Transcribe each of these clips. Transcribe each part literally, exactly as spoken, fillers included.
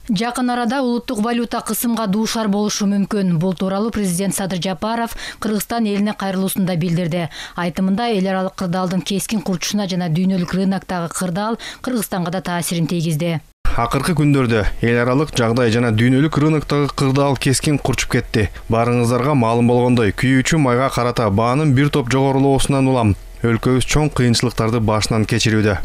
Жакын арада улуттук валюта кысымга дуушар болушу мүмкүн. Бул тууралуу президент Садыр Жапаров Кыргызстан элине кайрылуусунда билдирди. Айтымында эл аралык кырдаалдын кескин курчушуна жана дүйнөлүк рыноктогу кырдаал Кыргызстанга да таасирин тийгизди. Акыркы күндөрдө эл аралык жагдай жана дүйнөлүк рыноктогу кырдаал кескин курчуп кетти. Барыңыздарга маалым болгондой, күйүүчү майга карата баанын бир топ жогорулоосунан улам өлкөбүз чоң кыйынчылыктарды башынан кечирүүдө.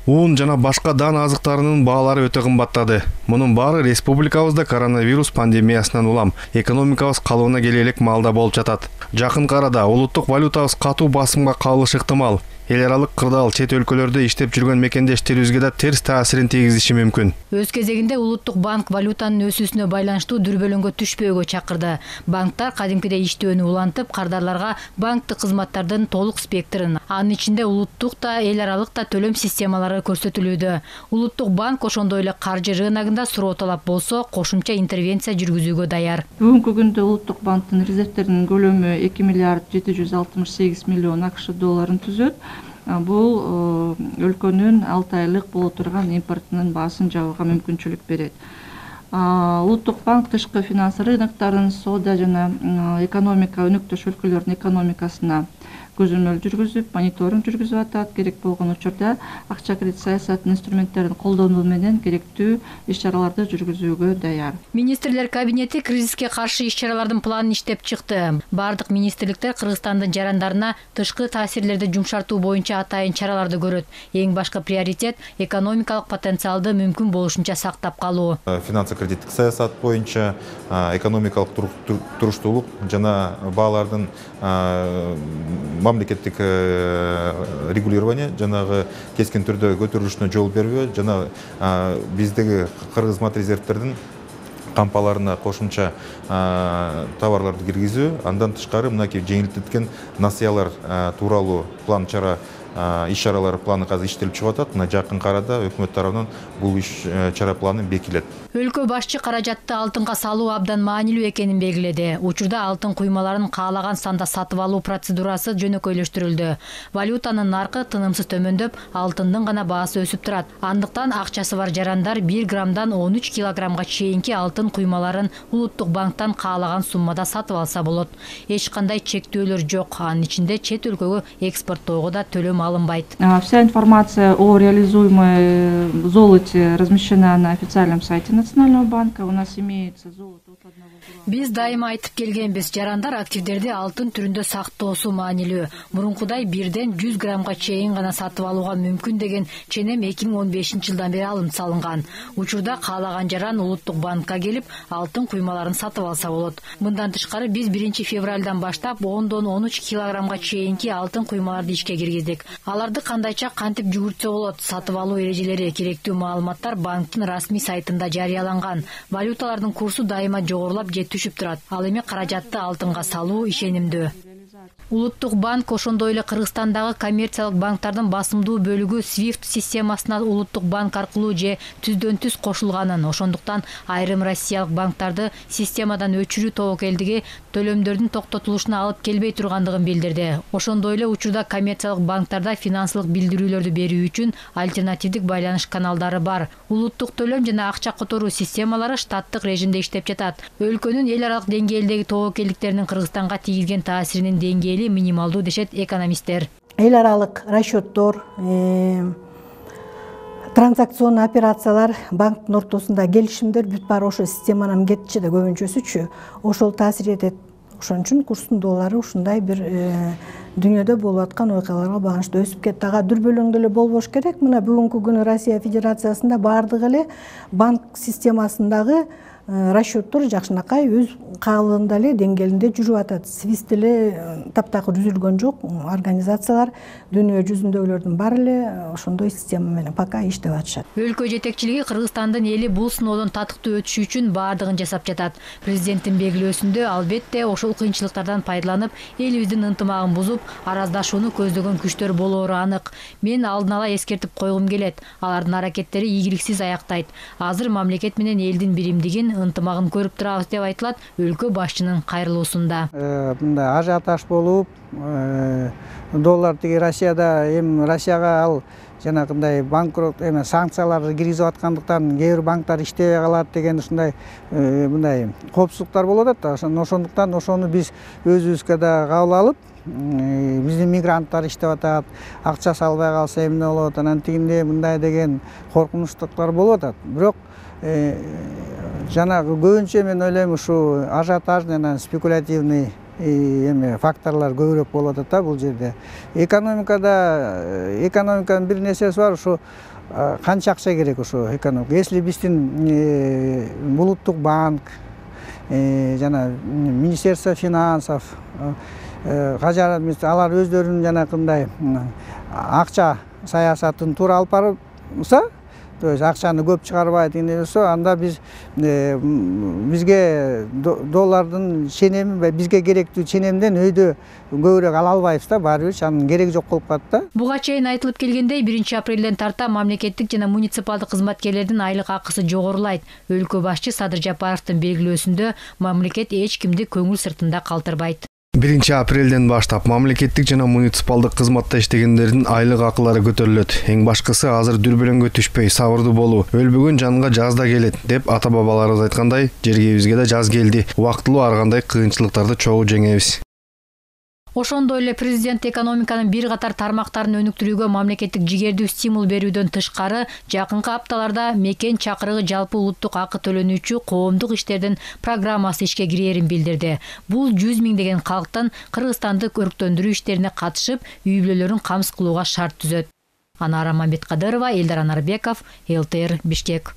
Un жана башка дан азыктарынын баалары өтө кымбаттады. Мунун баары республикабызда коронавирус пандемиясынан улам экономикабыз калыбына келе элек маалда болуп жатат. Жакынкы арада улуттук валютабыз катуу басымга калышы ыктымал. Эл аралык кырдаал чет өлкөлөрдө иштеп жүргөн мекендештерибизге да терс таасирин тийгизиши мүмкүн. Өз кезегинде улуттук банк валютанын өсүүсүнө байланыштуу дүрбөлөңгө түшпөөгө чакырды. Банктар кадимкидей иштөөнү улантып, кардарларга банктык кызматтардын толук спектрин, анын ичинде улуттук да, эл аралык да төлөм системалары көрсөтүлүүдө. Улуттук банк ошондой эле каржы рыногунда суроо талап болсо, кошумча интервенция жүргүзүүгө даяр. Бүгүнкү күндө улуттук банктын резервтеринин көлөмү эки миллиард жети жүз алтымыш сегиз миллион акш долларын түзөт. Бул өлкөнүн алты айлык боло турган импортунун баасын жабууга мүмкүнчүлүк берет. Улуттук банк тышкы финанс рыноктарын, соода жана экономика өнөктөш өлкөлөрдүн экономикасына көзөмөл жүргүзүп, мониторинг жүргүзүп атат. Керек болгон учурда акча кредит саясатынын инструменттерин колдонуу менен керектүү иш-чараларды жүргүзүүгө даяр. Министрлер кабинети кризиске каршы иш-чаралардын планын иштеп чыкты. Бардык министрликтер Кыргызстандын жарандарына тышкы таасирлерди жумшартуу боюнча атайын чараларды көрөт. Эң башкы приоритет экономикалык потенциалды мүмкүн болушунча сактап калуу. Финансы-кредиттик саясат боюнча экономикалык туруштуулук жана баалардын мамлекеттик регулирование жанагы кескин түрдө көтөрүлүшүнө жол бербөө жана биздеги Кыргыз мат резервтердин кампаларына кошумча товарларды киргизүү, андан тышкары мынакей жеңилдеткен насыялар тууралуу план чара иш-чаралар планы азыр иштелип чыгып атат. Мына жакынкы арада өкмөт тарабынан бул иш-чара планы бекитилет. Өлкө башчы каражатты алтынга салуу абдан маанилүү экенин белгиледи. Учурда алтын куймаларын каалаган санда сатып алуу процедурасы жөнөкөйлөштүрүлдү. Валютанын наркы тынымсыз төмөндөп, алтындын гана баасы өсүп турат. Андыктан акчасы бар жарандар бир граммдан он үч килограммга чейинки алтын куймаларын улуттук банктан каалаган суммада сатып алса болот. Эч кандай чектөөлөр жок. Анын ичинде чет өлкөгө экспорттоого да төлөм алынбайт. Вся информация о реализуемой золоте размещена на официальном сайте Национального банка. У нас имеется золото от одного грамма. Биз дайыма айтып келгенбиз, жарандар активдерди алтын түрүндө сактоосу маанилүү. Мурункудай бирден жүз граммга чейин гана сатып алууга мүмкүн деген ченем эки миң он бешинчи жылдан бери алынып салынган. Учурда каалаган жаран улуттук банкка келип, алтын куймаларын сатып алса болот. Мындан тышкары биз биринчи февралдан баштап ондон он үч килограммга чейинки алтын куймаларды ишке киргиздик. Аларды кандайча кантип жүгүртсө болот? Сатып алуу эрежелери, керектүү маалыматтар банктын расмий сайтында жарыяланган. Валюталардын курсу дайыма жогорулап же түшүп турат. Ал эми каражатты алтынга салуу ишенимдүү. Улуттук банк ошондой эле Кыргызстандагы коммерциялык банктардын басымдуу бөлүгү свифт системасына улуттук банк аркылуу же түздөн түз кошулганын, ошондуктан айрым россиялык банктарды системадан өчүрүү тобокелдиги төлөмдөрдүн токтотулушуна алып келбей тургандыгын билдирди. Ошондой эле учурда коммерциялык банктарда финансылык билдирүүлөрдү берүү үчүн альтернативдик байланыш каналдары бар. Улуттук төлөм жана акча которуу системалары штаттык режимде иштеп жатат. Өлкөнүн эл аралык деңгээлдеги тобокелдиктеринин Кыргызстанга тийгизген таасиринин деңгээли минималдуу дешет экономисттер. Эл аралык расчеттор, транзакцион операциялар, банктын ортосунда келишимдер бүт баары ошо системанын кетчиде көбүнчөсүчү ошол таасир этет. Ошон үчүн курстун доллары ушундай бир дүйнөдө болуп аткан окуяларга багыштуу өсүп кетти. Ага дүрбөлөң деле болбош керек. Мына бүгүнкү күнү Россия Федерациясында баардыгы эле банк системасындагы расчеттор жакшынакай өз каалында эле деңгээлинде жүрүп атат. Свифт эле таптакыр үзүлгөн жок. Организациялар дүйнө жүзүндөгүлөрдүн баары эле ошондой система менен пока иштеп атышат. Өлкө жетекчилиги Кыргызстандын эли бул сыноодон татыктуу өтүшү үчүн баардыгын жасап жатат. Президенттин белгилөөсүндө албетте ошол кыйынчылыктардан пайдаланып, элибиздин ынтымагын бузуп, араздашууну көздөгөн күчтөр болоору анык. Мен алдын ала эскертип койгум келет. Алардын аракеттери ийгиликсиз аяктайт. Азыр мамлекет менен элдин биримдигин, ынтымагын көрүп турабыз деп айтылат өлкө башчынын кайрылуусунда. Мындай ажиотаж болуп, доллар тиги Россияда эми Россияга ал жанагындай банкрот эме санкцияларды киргизип аткандыктан кээ бир банктар иштебей калат деген ушундай мындай коопсуздуктар болуп атат да. Ошондуктан ошону биз өзүбүзгө да кабыл алып, биздин мигранттар иштеп атат, акча салбай калса эмне болот, анан тигинде мындай деген коркунучтуктар болуп атат. Бирок жанагы көбүнчө мен ойлойм ушу ажиотажный, анан спекулятивный эме факторлор көбүрөөк болуп атат да бул жерде. Экономикада экономиканын бир нерсеси бар, ушу канча акча керек ушу экономика. Если биздин улуттук банк, жана Министерство финансов, кажарат алар өздөрүнүн жанагындай акча саясатын туура алып барса, то есть акчаны көп чыгарбай дегендей болсо, анда биз бизге доллардын ченеми, бизге керектүү ченемден өйдө көбүрөөк ала албайбыз да, баары бир анын кереги жок болуп калат да. Буга чейин айтылып келгендей, биринчи апрелден тарта мамлекеттик жана муниципалдык кызматкерлердин айлык акысы жогорулайт. Өлкө башчы Садыр Жапаровдун белгилөөсүндө мамлекет эч кимди көңүл сыртында калтырбайт. биринчи апрелден баштап мамлекеттик жана муниципалдык кызматта иштегендердин айлык акылары көтөрүлөт. Эң башкысы азыр дүрбөлөңгө түшпөй, сабырдуу болуу. Өлбөгөн жанга жаз да келет деп ата бабаларыбыз айткандай, жергебизге да жаз келди. Убактылуу ар кандай кыйынчылыктарды чогуу жеңебиз. Ошондой эле президент экономиканын бир катар тармактарын өнүктүрүүгө мамлекеттик жигердүү стимул берүүдөн тышкары, жакынкы апталарда мекен чакырыгы жалпы улуттук акы төлөнүүчү коомдук иштердин программасы ишке кирээрин билдирди. Бул жүз миңдеген калктын Кыргызстанды көрктөндүрүү иштерине катышып, үй бүлөлөрүн камсыз кылууга шарт түзөт. Анара Мамбеткадырова, Элдар Анарбеков, эл тэ эр Бишкек.